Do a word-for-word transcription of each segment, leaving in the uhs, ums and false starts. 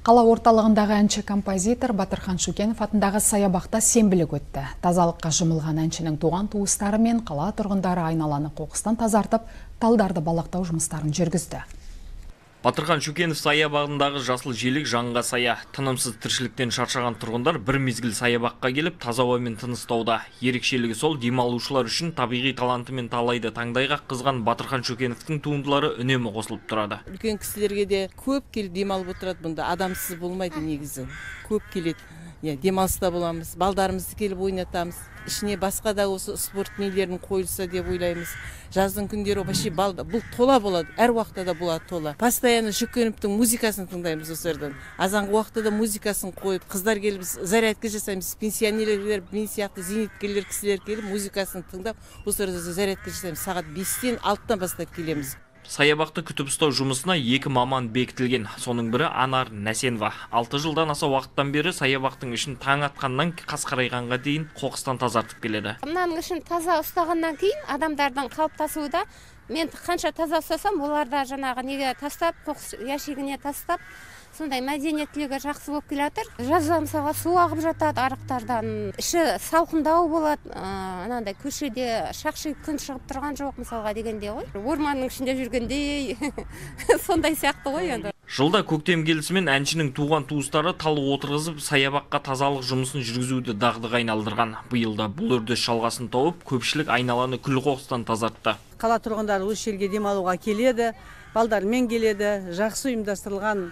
Қала орталығындағы әнші композитор Батырхан Шүкенов атындағы саябақта сенбілік өтті. Тазалыққа жұмылған әншінің туған туыстары мен қала тұрғындары айналаны қоқыстан тазартып, талдарды балақтау жұмыстарын жүргізді. Батырхан Шүкенов саябағындағы жасыл желек жанға сая. Тынымсыз тіршіліктен шаршаған тұрғындар бір мезгіл саябаққа келіп таза ауамен тыныстауда. Ерекшелігі сол, демалушылар үшін табиғи таланты мен талайды таңдайға қызған Батырхан Шүкеновтың туындылары үнемі қосылып тұрады. Үлкен кісілерге де көп келіп демалып отырады бұнда. Адамсыз болмайды негізі. Көп келеді. Я, демалыста боламыз, балдарымызды келіп ойнатамыз. Ішіне басқа да осы спорт нелерін қойылса деп ойлаймыз. Жаздың күндері вообще балда бұл тола болады, әр уақытта да болады тола. Постоянно Шүкеновтың музыкасын тыңдаймыз осы жерден. Азанғы уақытта да музыкасын қойып, қыздар келіп зарядка жасаймыз, пенсионерлер, мен сияқты зейнеткерлер кісілер келіп музыкасын тыңдап, осы жерде зарядка жасаймыз. Сағат бестен алтыдан бастап келеміз. Саябақты күтіп ұстау жұмысына екі маман бекітілген. Соның бірі Анар Нәсенова. Алты жылдан аса уақыттан бері саябақтың ішін таң атқаннан қас қарайғанға дейін қоқыстан тазартып келеді. Мынаның ішін таза ұстағаннан кейін адамдардың қалыптасуы да, мен қанша таза ұстасам, олар да жаңағы неге тастап, қоқыс ящигіне тастап, сондай мәдениеттілігі жақсы болып келе жатыр. Жазда мысалға су ағып жатады арықтардан, іші салқындау болады, анандай көшеде шақши күн шығып тұрған жоқ мысалға дегенде ғой. Орманның ішінде жүргендей сондай сияқты ғой енді. Жылда көктем келісімен әншінің туған туыстары тал отырғызып, саябаққа тазалық жұмысын жүргізуді дағдыға айналдырған. Биылда бұл үрдіс жалғасын тауып, көпшілік айналаны күл қоқыстан тазартты. Қала тұрғындары осы жерге демалуға келеді, балдармен келеді, жақсы ұйымдастырылған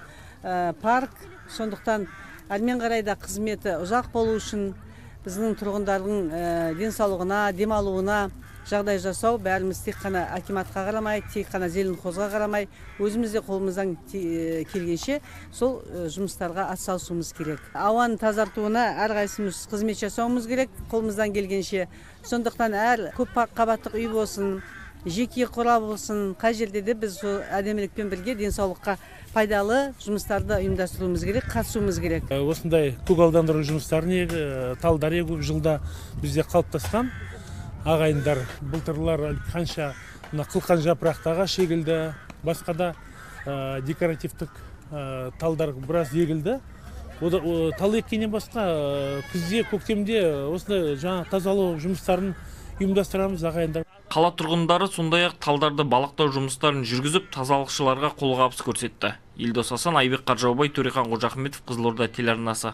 парк, сондықтан әрмен қарайда қызметі ұзақ болу үшін біздің тұрғындардың денсаулығына, демалуына жағдай жасау, бәріміз тек қана акиматқа қарамай, тек қана Зеленхозға қарамай, өзімізде қолымыздан келгенше сол жұмыстарға атсалысуымыз керек. Ауаны тазартуына әрқайсымыз қызмет жасауымыз керек, қолымыздан келгенше. Сондықтан әр көп қабаттық үй болсын, жеке қора болсын, қай жерде де біз әдемілікпен бірге денсаулыққа пайдалы жұмыстарды ұйымдастыруымыз керек, қатысуымыз керек. Осындай көгалдандыру жұмыстарын талдар егу жылда бізде қалыптасқан. Ағайындар, былтырлар қанша қылқан жапырақтаға шегілді, басқа да декоративтік талдар біраз егілді. Тал еккеннен басқа күзде, көктемде осындай жаңа тазалау жұмыстарын ұйымдастырамыз ағайындар. Қала тұрғындары сондай-ақ талдарды балақтау жұмыстарын жүргізіп, тазалықшыларға қолғабыс көрсетті. Елдос Асан, Айбек Қаржаубай, Төрехан Қожахметов, Қызылорда телеарнасы.